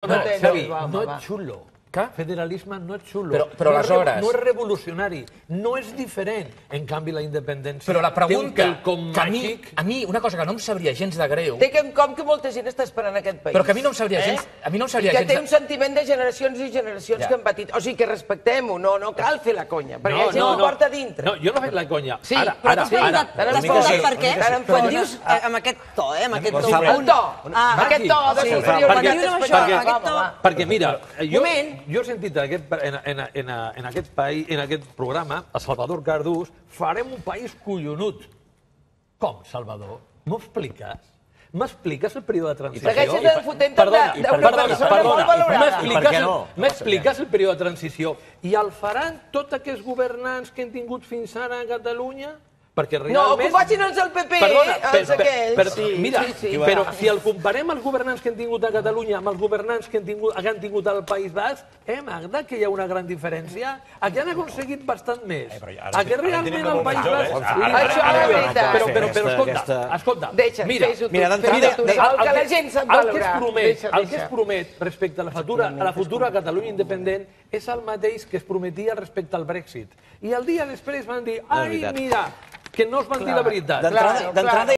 Xavi, no és xulo. Federalisme no és xulo. Però aleshores... No és revolucionari, no és diferent. En canvi, la independència... Però la pregunta, que a mi, una cosa que no em sabria gens de greu... Té quelcom que molta gent està esperant en aquest país. Però que a mi no em sabria gens... I que té un sentiment de generacions i generacions que han patit. O sigui, que respectem-ho, no cal fer la conya, perquè la gent ho porta a dintre. No, jo no he fet la conya. Sí, ara. Ara per què? Quan dius amb aquest to, amb aquest to... El to, aquest to de superior. Perquè, mira, jo he sentit en aquest programa, a Salvador Cardús, farem un país collonut. Com, Salvador? M'ho expliques? M'expliques el període de transició? Segueixes fotent d'una persona molt valorada. M'expliques el període de transició? I el faran tots aquests governants que hem tingut fins ara a Catalunya? Perquè realment... No, que ho facin els del PP, els aquells. Mira, però si el comparem els governants que hem tingut a Catalunya amb els governants que han tingut al País Basc, Magda, que hi ha una gran diferència? Aquí han aconseguit bastant més. Aquí realment al País Basc... Això és veritat. Però escolta, mira, el que la gent sap valorar. El que es promet respecte a la futura Catalunya independent és el mateix que es prometia respecte al Brexit. I el dia després van dir, ai, mira, que no es van dir la veritat.